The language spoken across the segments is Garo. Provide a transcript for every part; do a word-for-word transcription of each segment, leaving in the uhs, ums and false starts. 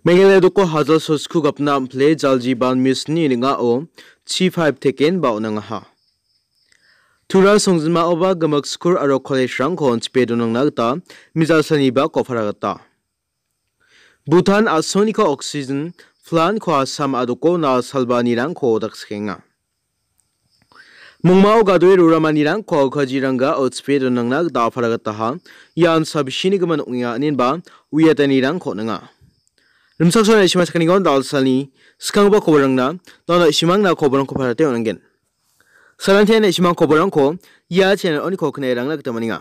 Meghalaya doko hajal sosku gapna am·pile Jal Jeevan Mission-ni ning·ao chi paip teken ba on·angaha. Tura songjinmaoba gimik skul aro college-rangko on·chipe donangna gita mijal salni bako para gita. Bhutan a·soniko oxygen plant-ko Assam a·dokona salbanirangko dakskienga. Mongmao gadoe roramanirangko kajirangga otspe donangna gita apara gitaha. Ian sabisini gimin ong·enga, inenba uiatanirangko ninga. Rimchaksoa na·simang sakanigon dalsalni skanggipa kobarangna, dona na·simangna kobarangko parate on·angen. Salantian na·simang kobarangko ia channel oniko knae rangna gita man·enga.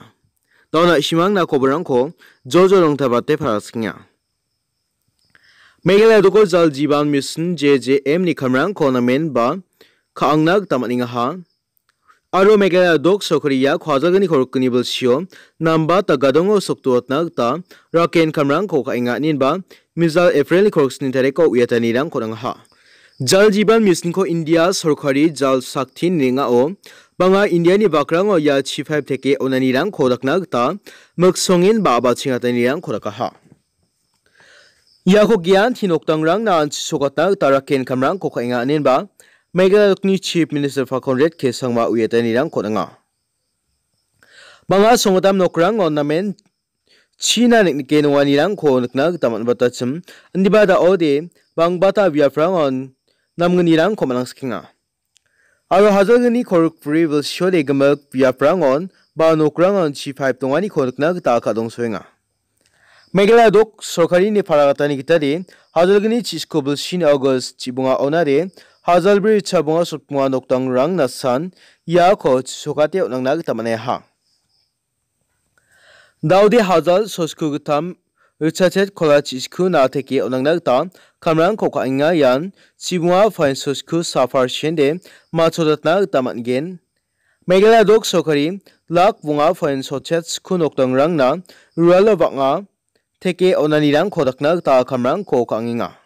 Dona na·simangna kobarangko jojo rongtabate paraskenga. Meghalaya doko Jal Jeevan Mission, J J M-ni kamrangko namen ba ka·angna gita man·engaha. Aro Meghalaya dok sorkari ia kuajalgni korokgni bilsio namba ta gadongo sokduatna gita raken kamrangko ka·enga, inenba mijal April-ni koroksni tariko uiatanirangko nangaha. Jal Jeevan Mission-ko India sorkari Jal Shakti ning·ao banga Indiani bakrango ia chi paip teke onanirangko dakna gita miksongen ba a·bachengatanirangko dakaha. Iako gianti nokdangrangna an·chisokatna gita raken kamrangko ka·enga, inenba Meghalaya dokni Chief Minister Conrad K Sangma uiatanirangko ninga. Banga songgitam nokrango namen china nik·nike nonganirangko nikna gita man·batachim, indiba da·ode bangbata biaprangon namgnirangko man·angskenga. Aro hajalgni korokbri bilsiode gimik biaprangon ba nokrangon chi paip donganiko nikna gita ka·dongsoenga. Meghalaya dok sorkarini paragatani gitade hajalgni chi-, sku bilsini August chibonga onade hajalbri chabonga sotbonga nokdangrang nasan iako chisokate on·angna gita man·aiaha. Daode hajal sosku gittam richachet kola chi-, sku na teke on·angna gita kamrangko ka·enga, ian chibonga poin sosku sa parsende machodatna gita man·gen. Meghalaya dok sorkari lak bonga poin sotchet sku nokdangrangna rualo bang·a teke onanirangko dakna gita kamrangko ka·angenga.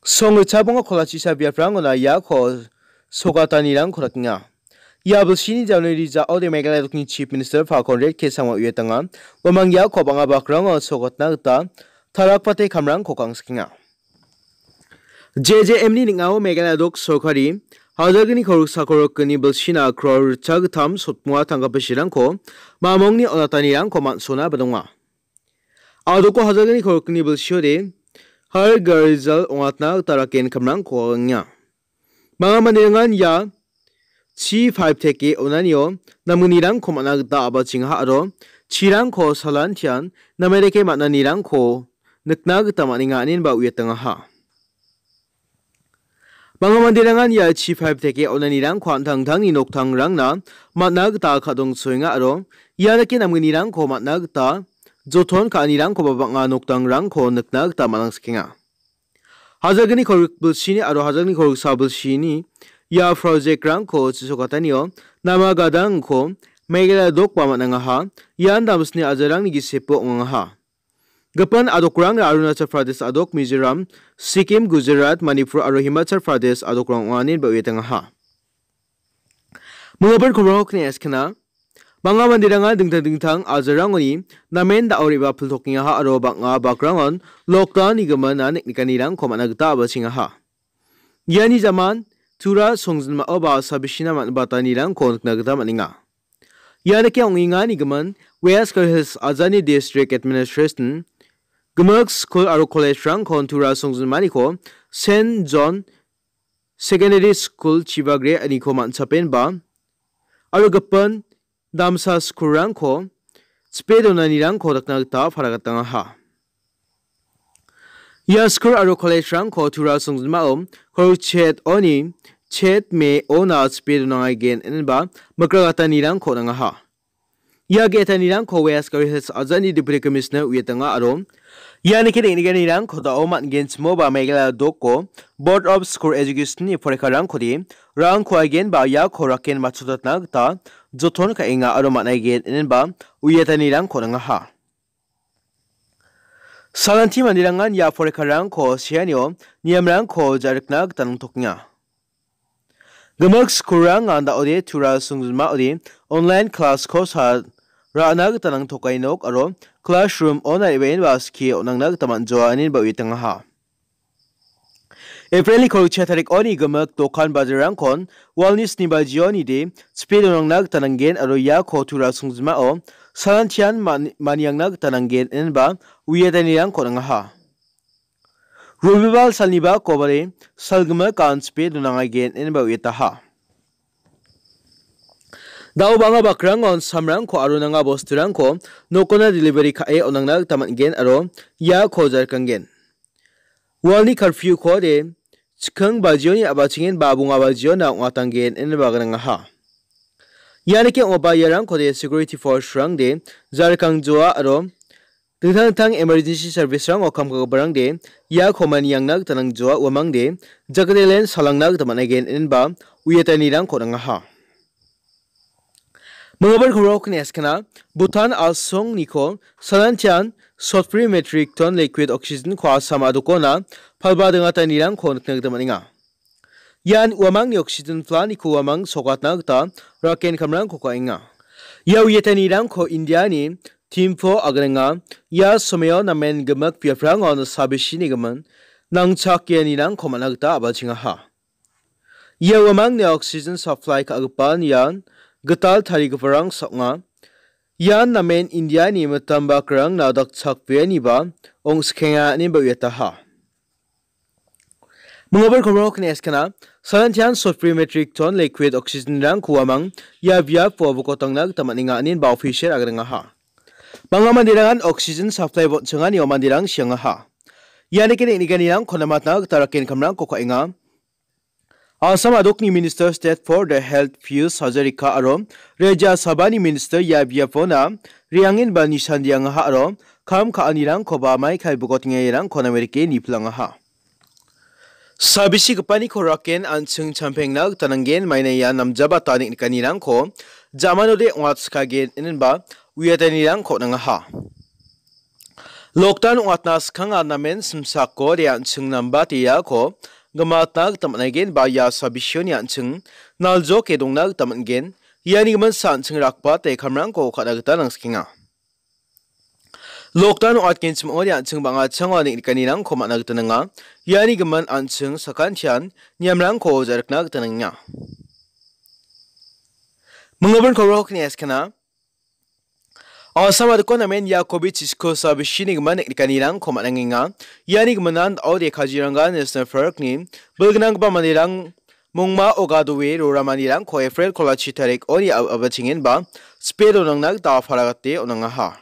Song ritchabonga kolachisa biaprangona iako sogatanirangko dakenga. Ia bilsini january ja·ode Meghalaya dokni Chief Minister Conrad K Sangma uiatanga. Uamang iako bang·a bakrango sogatna gita tarakpate kamrangko ka·angsikenga. J J M-ni ning·ao Meghalaya dok sorkari hajalgni koroksa korokgni bilsina kror ritchagittam sotbonga tangka bisirangko mamongni onatanirangko man·sona ba donga. A·doko hajalgni korokgni bilsiode Har Ghar Jal ong·atna gita raken kamrangko ka·enga. Manga manderangan ia chi paip teke onanio namgnirangko man·a gita a·bachengaha aro chirangko salantian namedake man·anirangko nikna gita man·enga, inenba uiatangaha. Bang·a manderangan ia chi paip teke onanirangko an·tangtangni noktangrangna man·a gita ka·dongsoenga aro ia dake namgnirangko man·a gita joton ka·anirangkoba bang·a nokdangrangko nikna gita man·angsikenga. Hajalgni korok bilsini aro hajalgni koroksa bilsini ia project-rangko chisokatanio nama gadangko Meghalaya dokba man·angaha. Ian damsni ajarangni gisepo ong·angaha. Gipin a·dokrangna Arunachal Pradesh a·dok, Mizoram, Sikkim, Gujarat, Manipur aro Himachal Pradesh a·dokrang ong·a ineba uiatangaha. Mingapin kobrangko kne eskana. Bang·a manderangan dingtang dingtang ajarangoni namen da·o re·bapiltokengaha aro bang·a bakrangon lockdown-ni gimina nik·nikanirangko man·a gita a·bachengaha. Iani jaman Tura songjinmao ba sabisina man·batanirangko nikna gita man·enga. Ia dake ong·engani gimin West Garo Hills ajani District Administration gimik skul aro college-rangko Tura songjinmaniko Saint John Secondary School Chibagre aniko man·chapenba aro gipin damsa skulrangko chipe donanirangko dakna gita paragatangaha. Ia skul aro college-rangko Tura songjinmao korok chet oni chet me ona chipe donangaigen inenba mikragatanirangko nangaha. Ia ge·etanirangko West Garo Hills ajani Deputy Commissioner uiatanga aro iani ke deng·nikanirangko da·o man·genchimoba Meghalaya doko Board of School Education-ni porekarangkode rangko aigen ba iako raken matchotatna gita joton ka·enga aro man·aigen inenba uiatanirangko nangaha. Salanti manderangan ia porekarangko seanio niamrangko ja·rikna gita nangtokenga. Gimik skulrangan da·ode Tura songjinmaode online class-ko sa ra·na gita nangtokai nok aro classroom-ona re·baenba skie on·angna gita man·joa ineba uiatangaha. April-ni kolgrichia tarikoni gimik dokan bajarrangkon walni sni bajionide chipe donangna gita nanggen aro iako tura songjinmao salantian man-, maniangna gita nanggen ineba uiatanirangko on·angaha. Robibal salniba kobari salgimik an chipe donangaigen ineba uiataha. Da·o bang·a bakrangon samrangko aro nanga bosturangko nokona delivery ka·e on·angna gita man·gen aro iako jarkanggen. Walni curfew-kode chikking bajioni a·bachengen ba bonga bajiona ong·atanggen ineba gnangaha. Ianike ong·oba iarangkode security force-rangde jarkangjoa aro dingtang dingtang emergency service-rango kam ka·giparangde iako maniangna gita nangjoa uamangde jakatelen salangna gita man·aigen inenba uiatanirangko on·angaha. Mingabal kolgrikni eskana Bhutan a·songniko salantian sotbri metric ton liquid oxygen-ko Assam a·dokona palba dingatanirangko nikna gita man·enga. Ian uamangni oxygen plant-niko uamang sokatna gita raken kamrangko ka·enga. Ia uiatanirangko India-ni Thimphu agrenga. Ia somao namen gimik biaprangon sabisini gimin nangchakianirangko man·a gita a·bachengaha. Ia uamangni oxygen supply ka·gipan ian gital tarigiparang ong·a. Ian namen India-ni mitam bakrangna dakchakbeaniba ong·skenga ineba uiataha. Mingabal kolgrikni eskana salantian sotbri metric ton liquid oxygen-rangko uamang ia biapo bokotangna gita man·enga inenba official agrengaha. Bang·a manderangan oxygen supply bot·changani manderang siangaha. Ianike neng·nikanirangko namatna gita raken kamrangko ka·enga. Assam a·dokni Minister State for the Health Piyush Hazarika aro Rajya Sabhani Minister ia biapona re·angenba nisandiangaha aro kam ka·anirangkoba maikai bokotengairangko namerike nipilangaha. Sabisigipaniko raken an·ching champengna gita nanggen maina ia namjabata neng·nikanirangko jamanode ong·atskagen inenba uiatanirangko on·angaha. Lockdown ong·atna skanga namen simsako de an·ching nambateako gimatna gita man·aigen ba ia sabisioni an·ching naljoke dongna gita man·gen. Iani giminsa an·ching rakbate kamrangko ka·na gita nangskenga. Lockdown ong·atgenchim ong·ode an·ching bang·a chango neng·nikanirangko man·a gita nanga. Iani gimin an·ching sakantian niamrangko ja·rikna gita nangenga. Mingabal kolgrikni eskana Assam a·dokon namen ia covid chisko sabisini gimin neng·nikanirangko man·angenga. Iani giminan da·ode Kaziranga National Park-ni bilgnanggipa manderang mongmao gadoe roramanirangko April kolachi tarik oni a-, a·bachengenba chipe donangna gita paragate on·angaha.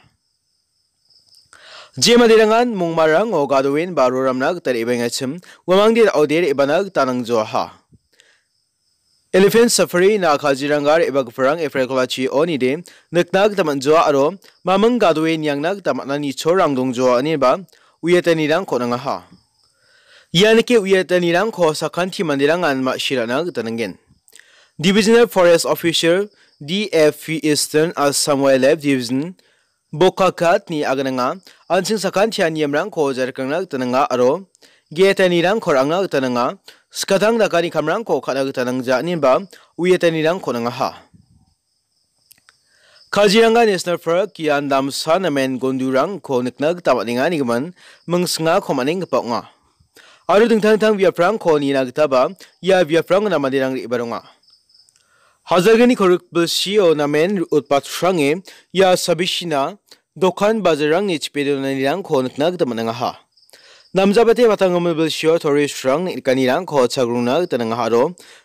Je manderangan mongmarango gadoenba roramna gita re·bengachim, uamangde da·ode re·bana gita nangjoaha. Elephant Safari-na Kaziranga re·bagiparang April kolachi onide nikna gita man·joa aro maming gadoe niangna gita man·ani chorang dongjoa ineba uiatanirangko on·angaha. Ianike uiatanirangko sakanti manderangan ma·sirana gita nanggen. Divisional Forest Officer, D F P Eastern Assam Wildlife Division, Bokakatni agananga, an·ching sakantian niamrangko ja·rikangna gita nanga aro ge·etanirangko ra·angna gita nanga, skatang dakani kamrangko ka·na gita nangja ineba uiatanirangko on·angaha. Kaziranga National Park ian damsa namen gondurangko nikna gita man·enga ine gimin mingsingako man·enggipa ong·a. Aro dingtang dingtang biaprangko nina gitaba ia biaprangona manderang re·baronga. Hajalgni kolgrik bilsio namen utbatrange ia sabisina dokan bajarrangni chipe donanirangko nikna gita man·angaha. Namjabate Baitangmul bilsio tourist-rang neng·nikanirangko chagrungna gita nangaha aro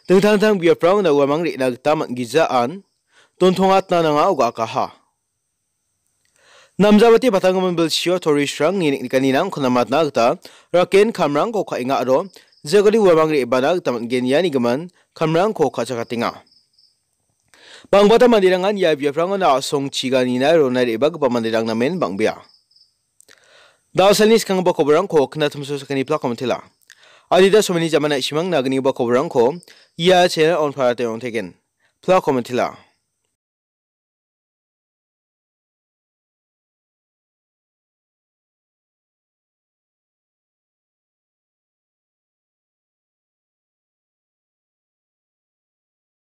dingtang dingtang biaprangona uamang re·na gita man·gijaan dontongatna nanga oga·akaha. Namjabate Baitangmul bilsio tourist-rangni neng·nikanirangko namatna gita raken kamrangko ka·enga aro jagari uamang re·bana gita man·gen iani gimin kamrangko ka·chakatenga. Bangbata manderangan ia biaprangona a·song chiganina rona re·bagipa manderang namen bang·bea. Da·alni skanggipa koborangko knatimso sakani plak komentela. Adita someni jamana isimang nagnigipa koborangko ia channel on parate ong·tegen. Plak komentela.